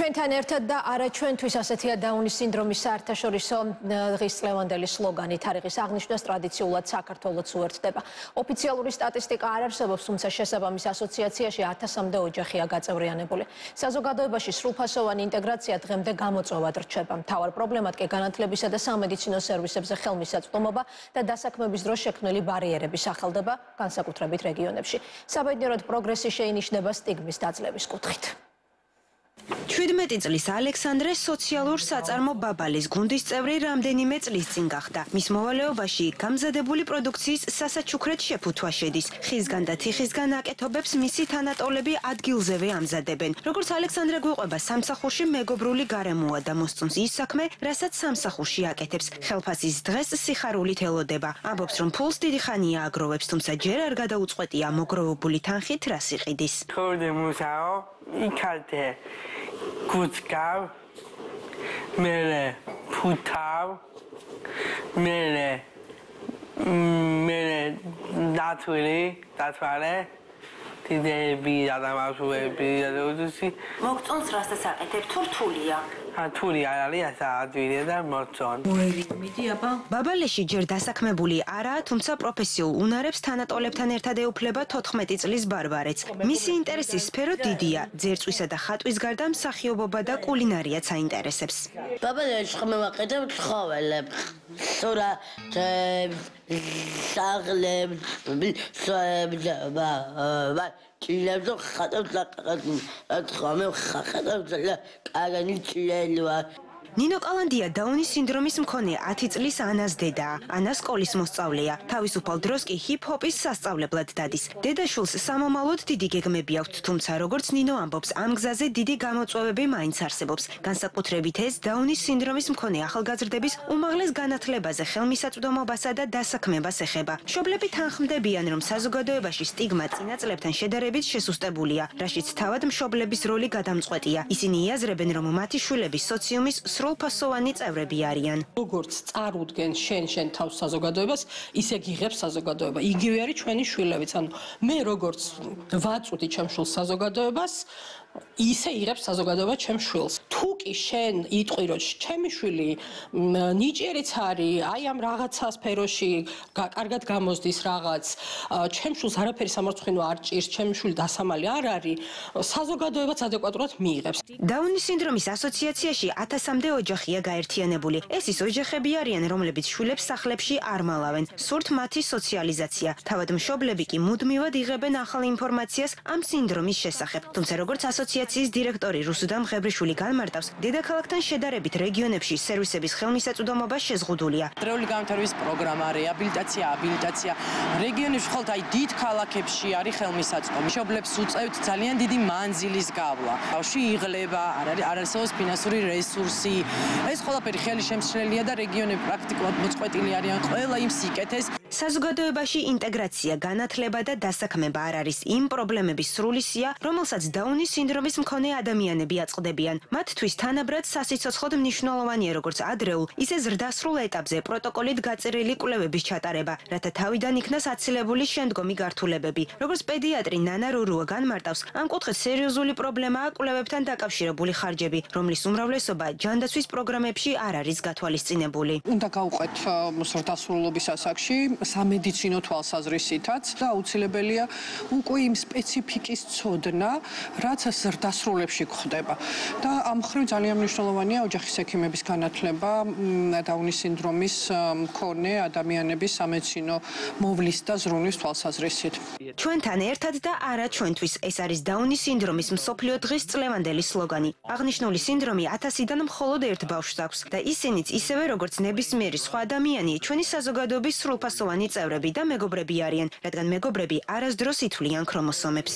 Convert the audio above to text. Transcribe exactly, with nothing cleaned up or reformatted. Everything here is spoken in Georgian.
ჩვენთან ერთად და არა ჩვენთვის ასეთია დაუნის სინდრომის საერთაშორისო დღის წლევანდელი სლოგანი თარიღის აღნიშვნას ტრადიციულად საქართველოს უერთდება. ოფიციალური სტატისტიკა არ არსებობს, თუმცა შესაბამის ასოციაციაში ათასამდე ოჯახია გაწევრიანებული. საზოგადოებაში სრულფასოვანი ინტეგრაცია დღემდე გამოწვევად რჩება. მთავარ პრობლემად კი განათლებისა და სამედიცინო სერვისებზე ხელმისაწვდომობა და დასაქმების დროს შექმნილი ბარიერები სახელდება, განსაკუთრებით რეგიონებში. საბედნიეროდ პროგრესი შეინიშნება სტიგმის დაძლევის კუთხით. შვიდმეტი წლის ალექსანდრე სოციალურ საწარმო ბაბალის გუნდის წევრი რამდენიმე წლის წინ გახდა. მის მოვალეობაში გამზადებული პროდუქციის სასაჩუქრად შეფუთვა შედის. ხისგან და თიხისგან აკეთობებს მისი თანატოლები ადგილზევე ამზადებენ. როგორც ალექსანდრე გვიყვება, სამსახურში მეგობრული გარემოა და მოსწონს ის საქმე, რასაც სამსახურში აკეთებს. ხელფასის დღეს სიხარულით ელოდება. ამბობს, რომ ფულს დიდი ხანია აგროვებს, თუმცა ჯერ არ გადაუწყვეტია მოგროვებული თანხით რას იყიდის. იქალთე კუცკავ მერე ფუთავ მერე მერე დათვილი დათვალე დიდები ადამიანები და უდუსი მოგწონს რასაც აკეთებ თუ რთულია რთული არ არის ასა ადვილია და მოწონ მიდი აბა ბაბალეში ჯერ დასაქმებული არაა, თუმცა პროფესიულ უნარებს თანატოლებთან ერთად ეუფლება თოთხმეტი წლის ბარბარეც. მისი ინტერესის სფერო დიდია, ძერწვისა და ხატვის გარდა მსახიობობა და კულინარიაც აინტერესებს. ბაბალეში ხმევაკეთებ ცხოველებს, სურათებს, საღლებს, სოებებს, ჭილებს და ხატებს ლაკაკად ხამე ხატებს და კაგანი ჭილელვა. ნინო კალანდია დაუნის სინდრომის მქონე ათი წლის ანას დედაა. ანა სკოლის მოსწავლეა. თავისუფალ დროს კი ჰიპ-ჰოპის სასწავლებლად დადის. დედაშვილს სამომავლოდ დიდი გეგმები აქვთ, თუმცა როგორც ნინო ამბობს, ამ გზაზე დიდი გამოწვევები მაინც არსებობს. განსაკუთრებით ეს დაუნის სინდრომის მქონე ახალგაზრდების უმაღლეს განათლებაზე ხელმისაწვდომობასა და დასაქმებას ეხება. მშობლები თანხმდებიან, რომ საზოგადოებაში სტიგმა წინა წლებთან შედარებით შესუსტებულია, რაშიც თავად მშობლების როლი გადამწყვეტია. ისინი იაზრებენ, რომ მათი შვილები სოციუმის სრულფასოვანი წევრები არიან. როგორც წარუდგენ შენ შენ თავს საზოგადოებას, ისე გიღებს საზოგადოება. იგივე არის ჩვენი შვილებიც. ანუ მე როგორც ვაწვდი ჩემ შვილს საზოგადოებას, ისე იღებს საზოგადოება ჩემ შვილს. თუ კი შენ იტყვი, რომ ჩემი შვილი ნიჭიერიც არის, აი ამ რაღაცა სფეროში კარგად გამოსდის რაღაც, ჩემ შვილს არაფერი სამარცხვინო არ ჭირს, ჩემი შვილი დასამალი არ არის, საზოგადოებაც ადეკვატურად მიიღებს. დაუნის სინდრომის ასოციაციაში ათასამდე ოჯახია გაერთიანებული. ეს ის ოჯახები არიან, რომლებიც შვილებს სახლებში არ მალავენ. სურთ მათი სოციალიზაცია. თავად მშობლები კი მუდმივად იღებენ ახალ ინფორმაციას ამ სინდრომის შესახებ. თუმცა როგორც ასოციაციის დირექტორი რუსუდამ მღებრიშვილი განმარტავს, დედაქალაქთან შედარებით რეგიონებში სერვისების ხელმისაწვდომობა შეზღუდულია. დროული განვითარების პროგრამა, რეაბილიტაცია, აბილიტაცია რეგიონებში ხოლმე აი დიდ ქალაქებში არის ხელმისაწვდომი. მშობლებს უწევთ ძალიან დიდი მანძილის გავლა. ბავშვი იღლება, არ არის არ არსებობს ფინანსური რესურსი. ეს ყველაფერი ხელი შემცვლელია და რეგიონები პრაქტიკულად მოწყვეტილი არიან ყველა იმ სიკეთეს. საზოგადოებაში ინტეგრაცია, განათლება და დასაქმება არ არის იმ პრობლემების სრული სია, რომელსაც დაუნის სინდრომის მქონე ადამიანები აწყდებიან. მათთვის თანაბრად სასიცოცხლოდ მნიშვნელოვანია როგორც ადრეულ, ისე ზრდასრულ ეტაპზე პროტოკოლით გაწერილი კვლევების ჩატარება, რათა თავიდან იქნას აცილებული შემდგომი გართულებები. როგორც პედიატრი ნანა რურუა განმარტავს, ამ კუთხით სერიოზული პრობლემაა კვლევებთან დაკავშირებული ხარჯები, რომლის უმრავლესობა ჯანდაცვის პროგრამებში არ არის გათვალისწინებული. უნდა გავუყვეთ ზრდასრულობის ასაკში სამედიცინო თვალსაზრისითაც და აუცილებელია უკვე იმ სპეციფიკის ცოდნა, რაც ზრდასრულებში გვხდება. და ამ მხრივ ძალიან მნიშვნელოვანია ოჯახის ექიმების განათლება დაუნის სინდრომის მქონე ადამიანების სამედიცინო მოვლის და ზრუნვის თვალსაზრისით. ჩვენთან ერთად და არა ჩვენთვის ეს არის დაუნის სინდრომის მსოფლიო დღის წლევანდელი სლოგანი. აღნიშნული სინდრომი ათასიდან მხოლოდ ერთ ბავშვს აქვს და ისინიც ისევე როგორც ნებისმიერი სხვა ადამიანი ჩვენი საზოგადოების სრულფასოვანი წევრები და მეგობრები არიან, რადგან მეგობრები არასდროს ითვლიან ქრომოსომებს.